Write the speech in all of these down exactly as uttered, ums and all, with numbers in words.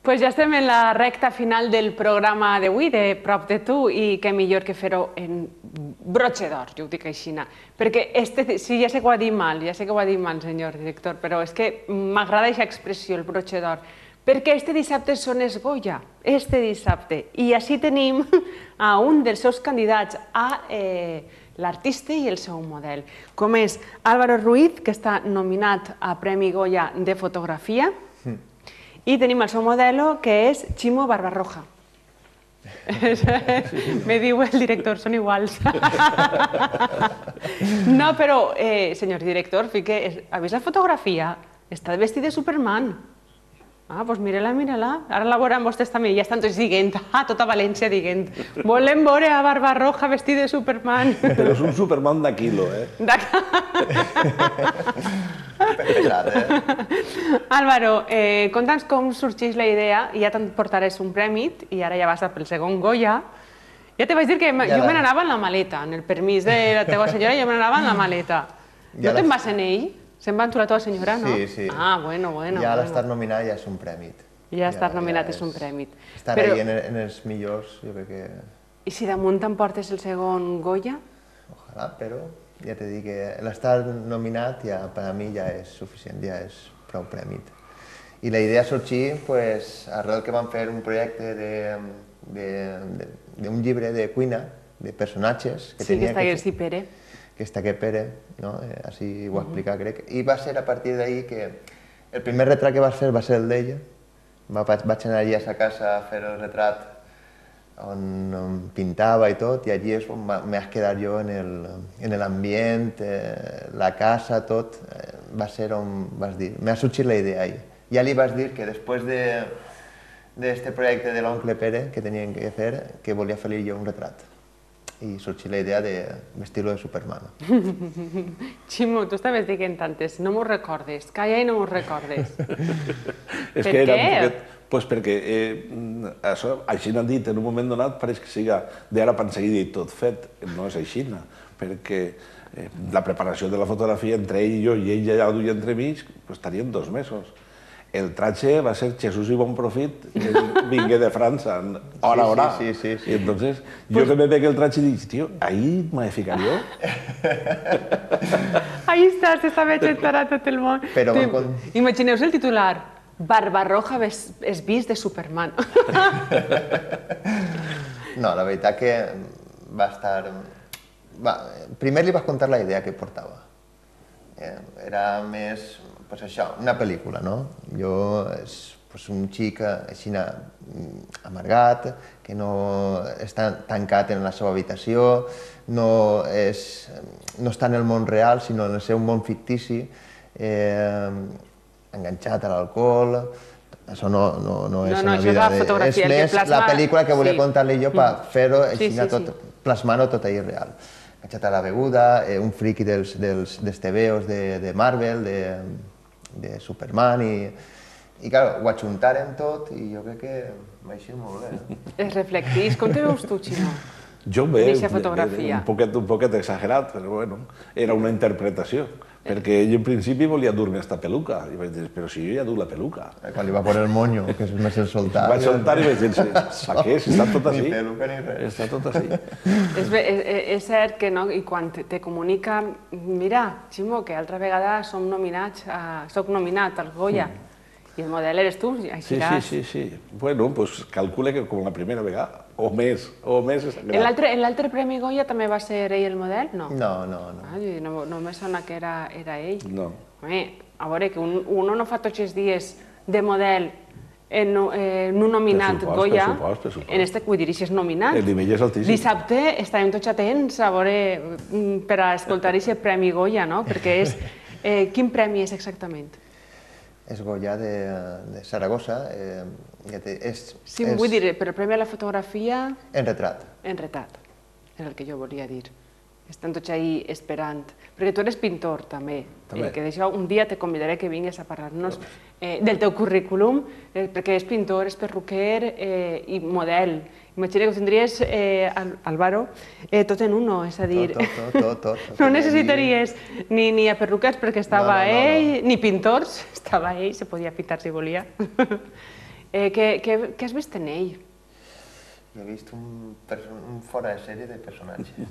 Pues ja estem en la recta final del programa d'avui, de Prop de tu, i què millor que fer-ho en broche d'or, jo ho dic així. Perquè, sí, ja sé que ho ha dit mal, ja sé que ho ha dit mal, senyor director, però és que m'agrada aquesta expressió, el broche d'or, perquè este dissabte són els Goya, este dissabte, i així tenim a un dels seus candidats a l'artista i el seu model, com és Álvaro Ruiz, que està nominat a Premi Goya de fotografia, i tenim el seu modelo, que és Ximo Barbarroja. Me diu el director, són iguals. No, però, senyor director, ha vist la fotografia? Està vestit de Superman. Ah, doncs mira-la, mira-la. Ara la veurem vostès també. Ja estan tots dient, ah, tota València dient, volem veure a Barbarroja vestit de Superman. Però és un Superman de quilo, eh? Pesat, eh? Álvaro, conta'ns com sorgeix la idea, ja te'n portaràs un premi i ara ja vas pel segon Goya. Ja te vaig dir que jo me n'anava en la maleta, en el permís de la teva senyora, jo me n'anava en la maleta. No te'n vas en ell? Se'n va amb tu la teva senyora, no? Sí, sí. Ah, bueno, bueno. Ja l'estar nominat ja és un prèmit. Ja estar nominat és un prèmit. Estar ahí en els millors, jo crec que... I si damunt t'emportes el segon Goya? Ojalà, però ja t'he dit que l'estar nominat per a mi ja és suficient, ja és prou prèmit. I la idea sorgir arrel que vam fer un projecte d'un llibre de cuina, de personatges... Sí, que està aquí Pere. que està aquest Pere, així ho va explicar, crec. I va ser a partir d'ahir que el primer retrat que vas fer va ser el d'ella. Vaig anar allí a sa casa a fer el retrat on pintava i tot, i allí és on m'he quedat jo en l'ambient, la casa, tot. Va ser on vas dir, m'ha sorgit la idea ahir. Ja li vas dir que després d'aquest projecte de l'oncle Pere que teníem que fer, que volia fer jo un retrat. I sorgir la idea de vestir-lo de Superman. Ximo, tu estaves dient tantes, no m'ho recordes, calla i no m'ho recordes. Per què? Doncs perquè, així n'han dit, en un moment donat pareix que siga d'ara per seguida i tot fet. No és així, perquè la preparació de la fotografia entre ell i jo, i ell ja ho duia entremig, estarien dos mesos. El tratge va ser Jesús i Bon Profit, que vingué de França, hora a hora. Sí, sí, sí. I entonces, jo que me veig el tratge dic, tio, ahí m'he ficat jo. Ahí estàs, estava xentant a tot el món. Imagineu-vos el titular, Barbarroja és vist de Superman. No, la veritat que va estar... Primer li vas contar la idea que portava. Era més... pues això, una pel·lícula, no? Jo és un xic així amargat, que no està tancat en la seva habitació, no està en el món real, sinó en el seu món fictici, enganxat a l'alcohol. Això no és una vida... És més la pel·lícula que volia contar-li jo per fer-ho així, plasmar-ho tot ahir real. Enganxat a la beguda, un friqui dels tebeos de Marvel, de... de Superman, i clar, ho ajuntaren tot i jo crec que va eixir molt bé. Es reflectís. Com te veus tu, Ximo? Jo em veig un poquet exagerat, però bueno, era una interpretació, perquè ell en principi volia dur-me esta peluca, i vaig dir, però si jo ja duc la peluca. Quan li va posar el monyo, que és més el soltar. Vaig soltar i vaig dir, per què? Si està tot així. Ni peluca ni res. Està tot així. És cert que quan te comunica, mira, Ximo, que altra vegada som nominats, soc nominat al Goya, i el model eres tu, així seràs. Sí, sí, sí. Bueno, doncs calcula que com la primera vegada, o més, o més és gran. En l'altre Premi Goya també va ser ell el model? No. No, no. No me sona que era ell. No. A veure, que un no fa tots els dies de model en un nominat Goya, en este, vull dir, si és nominat. El nivell és altíssim. Dissabte estarem tots atents a veure, per a escoltar aquest Premi Goya, no? Perquè és... Quin premi és exactament? És Goya de Saragossa. Sí, vull dir, però el Premi a la Fotografia... En retrat. En retrat, és el que jo volia dir. Estan tots ahí esperant. Perquè tu eres pintor, també. Que d'això un dia te convidaré que vingues a parlar-nos del teu currículum, perquè és pintor, és perruquer i model. Imagina que ho tindries, Álvaro, tot en uno, és a dir... Tot, tot, tot. No necessitaries ni a perruquers perquè estava ell, ni pintors, estava ell, se podia pintar si volia. Què has vist en ell? He vist un fora de sèrie de personatge.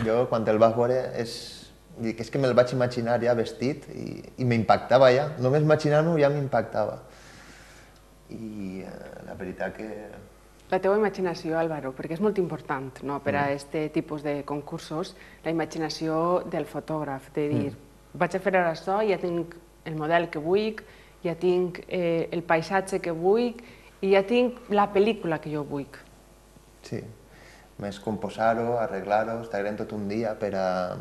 Jo, quan el vaig veure, és que me'l vaig imaginar ja vestit i m'impactava ja. Només imaginar-m'ho ja m'impactava. I la veritat que... La teva imaginació, Álvaro, perquè és molt important per a aquest tipus de concursos, la imaginació del fotògraf, de dir, vaig a fer ara això, ja tinc el model que vull, ja tinc el paisatge que vull i ja tinc la pel·lícula que jo vull. Sí, més composar-ho, arreglar-ho, estar tot un dia per a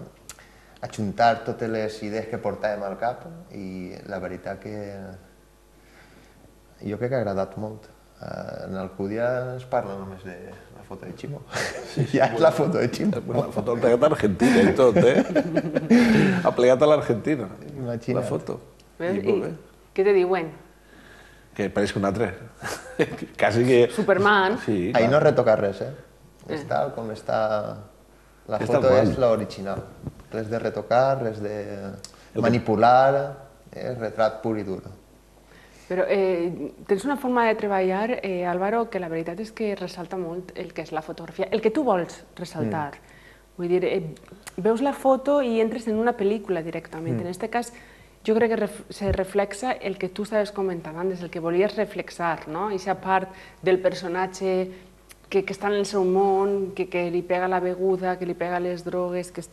ajuntar totes les idees que portàvem al cap i la veritat que jo crec que ha agradat molt. En Alcúdia es parla només de la foto de Chimo. Ja és la foto de Chimo. La foto ha plegat a l'Argentina i tot, eh? Ha plegat a l'Argentina, la foto. I què te diuen? Que pareix que un altre. Quasi que... Superman. Ahí no retoca res, eh? És tal com està... La foto és l'original. Res de retocar, res de manipular, és retrat pur i dur. Però tens una forma de treballar, Álvaro, que la veritat és que ressalta molt el que és la fotografia, el que tu vols ressaltar. Vull dir, veus la foto i entres en una pel·lícula directament. En aquest cas, jo crec que se reflexa el que tu estaves comentant antes, el que volies reflexar, no? Aquesta part del personatge que està en el seu món, que li pega la beguda, que li pega les drogues, que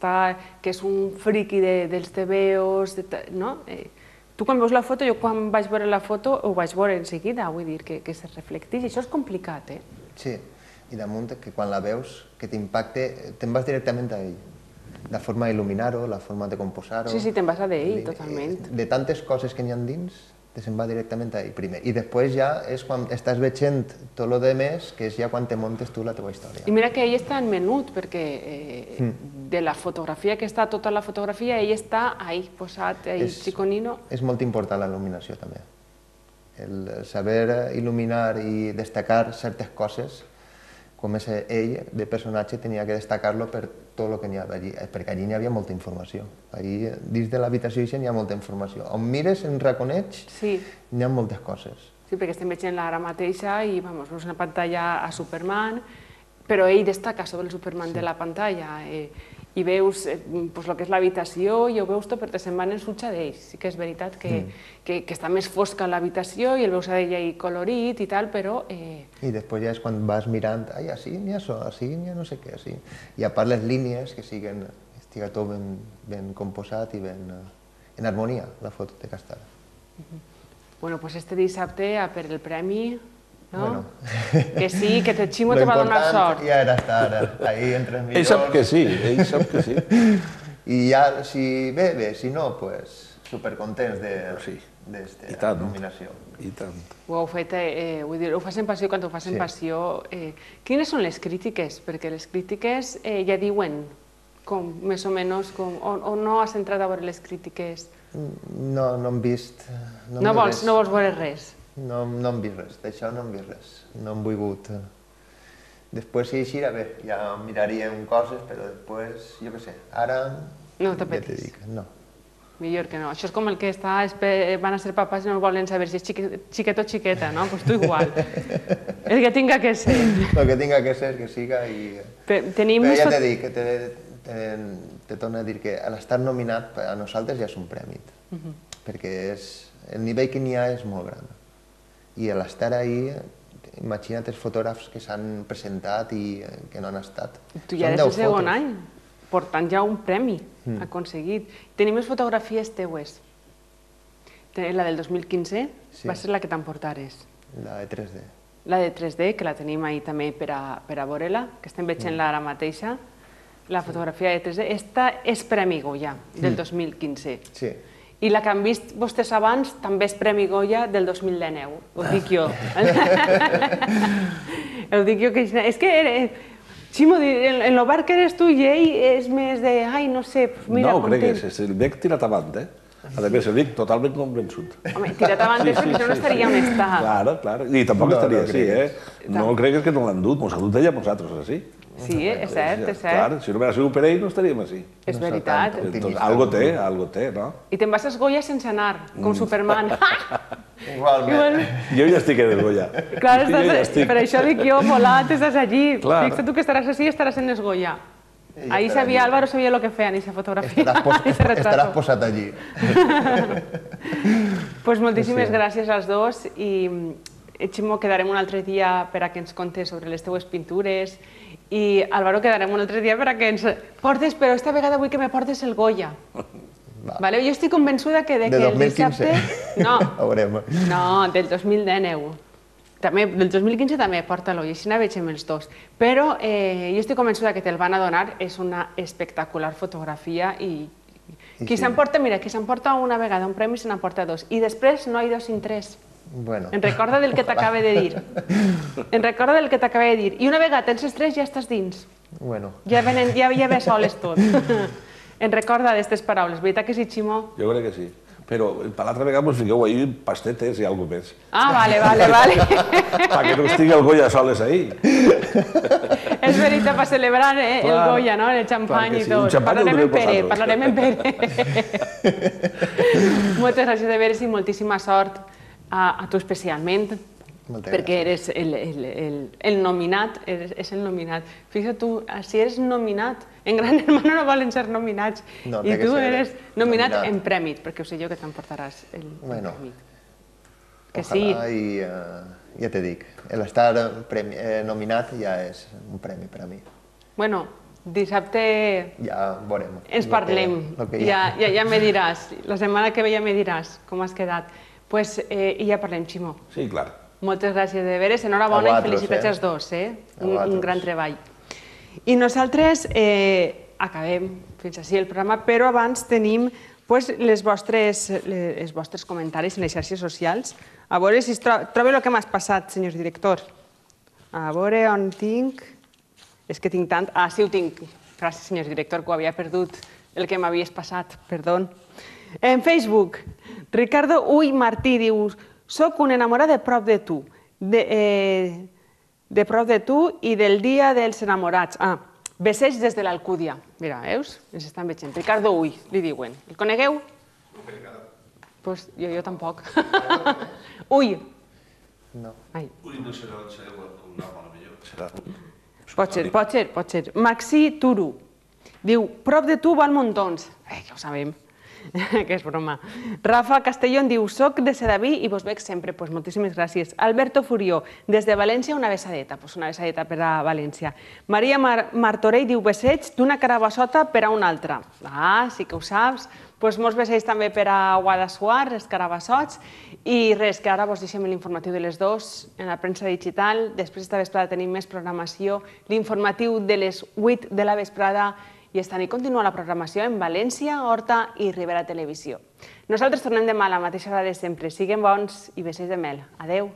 és un friqui dels tebeos, no? Tu quan veus la foto, jo quan vaig veure la foto ho vaig veure en seguida, vull dir, que se reflecteix. Això és complicat, eh? Sí, i damunt que quan la veus, que t'impacte, te'n vas directament a ell. La forma d'il·luminar-ho, la forma de composar-ho... Sí, sí, te'n vas a d'ell, totalment. De tantes coses que n'hi ha dins, te se'n va directament a ell primer. I després ja és quan estàs veient tot el de més, que és ja quan te montes tu la teva història. I mira que ell està en menut, perquè de la fotografia que està, tota la fotografia, ell està ahí, posat, ahí, xiconino. És molt important la il·luminació, també. El saber il·luminar i destacar certes coses, com és ell, de personatge, tenia que destacar-lo per tot el que n'hi havia allí, perquè allí n'hi havia molta informació. Allí, dins de l'habitació n'hi ha molta informació. On mires, en reconeix, n'hi ha moltes coses. Sí, perquè estem veient ara mateixa i veus una pantalla a Superman, però ell destaca sobre el Superman de la pantalla i veus el que és l'habitació i ho veus tot, però se'n van en sutja d'ells. Sí que és veritat que està més fosca l'habitació i el veus a ell ahí colorit i tal, però... I després ja és quan vas mirant, ai, així n'hi ha això, així n'hi ha no sé què, així. I a part les línies que siguin, estiga tot ben composat i ben en harmonia, la foto de castada. Bueno, doncs este dissabte a per el premi... Que sí, que Chimo te va donar sort. L'important ja era estar ahí entre els millors. Ell sap que sí, ell sap que sí. I ja, si bé, bé, si no, doncs supercontents d'esta nominació. I tant. Ho heu fet, vull dir, ho fas en passió, quan ho fas en passió... Quines són les crítiques? Perquè les crítiques ja diuen com, més o menys, o no has entrat a veure les crítiques? No, no hem vist... No vols veure res? No hem vist res, d'això no hem vist res, no hem volgut. Després si així, bé, ja miraríem coses, però després, jo què sé, ara... No t'apetis? Ja t'he dit, no. Millor que no. Això és com el que està, van a ser papàs i no volen saber si és xiquet o xiqueta, no? Doncs tu igual. El que tinga que ser. El que tinga que ser, que siga i... Però ja t'he dit, te torno a dir que l'estar nominat a nosaltres ja és un premi, perquè el nivell que n'hi ha és molt gran. I a l'estar ahí, imagina't els fotògrafs que s'han presentat i que no han estat. Tu ja eres el segon any, portant ja un premi aconseguit. Tenim les fotografies teues. La del dos mil quinze va ser la que t'emportares. La de tres D. La de tres D, que la tenim ahí també per a veure-la, que estem veient-la ara mateixa. La fotografia de tres D. Esta és Premi Goya, del dos mil quinze. Sí. I la que han vist vostès abans també és Premi Goya del dos mil dinou. Ho dic jo. Ho dic jo que... És que, Chimo, en el bar que eres tu i ell és més de... Ai, no sé, mira... No ho cregues, és el bec tirat avant, eh? A més, el dic totalment convençut. Home, tirat avant és perquè no estaríem estat. Claro, claro. I tampoc estaria així, eh? No cregues que no l'han dut, mos ha dut ella a nosaltres, així. Sí, és cert, és cert. Clar, si no m'ha sigut per ell, no estaríem així. És veritat. Algo té, algo té, no? I te'n vas a Goya sense anar, com Superman. Igualment. Jo ja estic en el Goya. Clar, per això dic jo, volat, estàs allí. Fixa't tu que estaràs així i estaràs en el Goya. Ahí sabia, Álvaro sabia lo que feia en aquesta fotografia. Estaràs posat allí. Pues moltíssimes gràcies als dos i Ximo, quedarem un altre dia per a que ens contes sobre les teues pintures i Álvaro, quedarem un altre dia per a que ens portes, però esta vegada vull que me portes el Goya. Jo estic convençuda que el dissabte... No, no, del dos mil dinou. Del dos mil quinze també, porta-lo, i així la veig amb els dos. Però jo estic convençuda que te'l van a donar, és una espectacular fotografia i qui s'emporta, mira, qui s'emporta una vegada un premi se n'emporta dos. I després no hi dos sin tres. En recorda del que t'acaba de dir. En recorda del que t'acaba de dir. I una vegada tens els tres ja estàs dins. Ja ve soles tot. En recorda d'aquestes paraules. Veritat que sí, Ximo? Jo crec que sí. Però per l'altra vegada ens fiqueu ahir pastetes i alguna més. Ah, vale, vale, vale. Perquè no estigui el Goya soles ahir. És veritat, per celebrar el Goya, no? El xampany i tot. Parlarem en Pere, parlarem en Pere. Moltes gràcies de veres i moltíssima sort a tu especialment, perquè eres el nominat, és el nominat. Fixa't tu, si eres nominat, en Gran Hermano no volen ser nominats, i tu eres nominat en premi, perquè ho sé jo que t'emportaràs el premi. Que sí. Ja t'he dit, l'estar nominat ja és un premi per a mi. Bueno, dissabte ens parlem, ja me diràs, la setmana que ve ja me diràs com has quedat. I ja parlem, Ximo. Sí, clar. Moltes gràcies de veres, enhorabona i felicitats als dos, un gran treball. I nosaltres acabem fins així el programa, però abans tenim els vostres comentaris en les xarxes socials. A veure si trobo el que m'has passat, senyor director. A veure on tinc... És que tinc tant... Ah, sí, ho tinc. Gràcies, senyor director, que ho havia perdut el que m'havies passat, perdó. En Facebook, Ricardo Uy Martí diu: soc un enamorat de prop de tu, de prop de tu i del dia dels enamorats. Ah, besseig des de l'Alcúdia. Mira, veus? Ens estan veient. Ricardo Uy, li diuen. El conegueu? No, per cada. Doncs jo tampoc. Uy. No. Uy no serà el seu nom, potser. Pot ser, pot ser, pot ser. Maxi Turu diu: prop de tu van muntons. Eh, ja ho sabem. Que és broma. Rafa Castellón diu: soc de Sedaví i vos veig sempre. Doncs moltíssimes gràcies. Alberto Furió, des de València, una besadeta. Doncs una besadeta per a València. Maria Martorell diu: besseig d'una carabassota per a una altra. Ah, sí que ho saps. Doncs molts besseig també per a Guadassuar, els carabassots. I res, que ara vos deixem l'informatiu de les dues en la premsa digital. Després esta vesprada tenim més programació. L'informatiu de les vuit de la vesprada. I esta nit continua la programació en València, Horta i Ribera Televisió. Nosaltres tornem demà a la mateixa hora de sempre. Siguin bons i besseig de mel. Adeu.